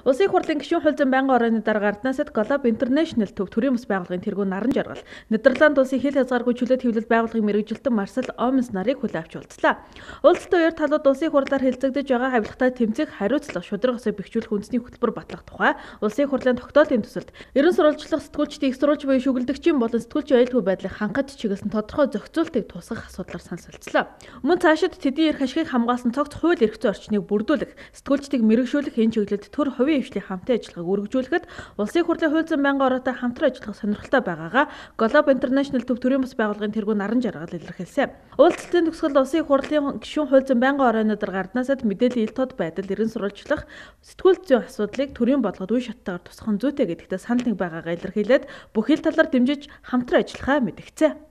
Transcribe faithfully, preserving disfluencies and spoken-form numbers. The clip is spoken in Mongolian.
Улсын их хурлын гишүүн хууль зүйн байнгын орооны дарга Арднасад Global International төв төрийн бас байгууллагын тэргүүн наран жаргал. Нидерланд улсын хил хязгааргүй чөлөөт хэвлэл байгууллагын мэргэжилтэн Марсел Омens нарыг хүлээн авч уулзлаа. Уулзалтын үеэр талууд улсын их хурлаар хэлэлцэгдэж байгаа хавьлахтай тэмцэх, хариуцлах, шударга ёсыг бэхжүүлэх үндэсний хөтөлбөр батлах тухай улсын их хурлын тогтоолын төсөлд ерөн сурвалжлах сэтгүүлчдийн их сурвалж буюу шүгэлдэгчийн болон сэтгүүлчийн аюулгүй байдлыг хангахад чиглэсэн тодорхой зохицуултыг тусгах асуудлаар санал солилцлоо. Мөн цаашид тэдний эрх ашигыг хамгаалсан цогц хууль эрх зүйн орчныг бүрдүүлэх, сэтгүүлчдийг мэрэгшүүлэх энэ чиглэлд төр хувийн хвшлийн хамтын ажиллагааг үргэлжлүүлэхэд улсын хурлын хууль зүйн байнгын ороотой хамтран ажиллах сонирхолтой байгаагаа Global International төв төрийн бас байгууллагын тэргүүн наран жаргал илэрхийлсэн. Уулзалтын төгсгөлд улсын их хурлын гишүүн хууль зүйн байнгын орооны дарга Арднасад мэдээллийн ил тод байдал ерэн сурвалжлах сэтгүүл зүйн асуудлыг төрийн бодлогод үе шаттайгаар тусгах нь зүйтэй гэдэгтээ санал нэг байгаагаа илэрхийлээд бүх ил талаар дэмжиж хамтран ажиллахаа мэдгцээ.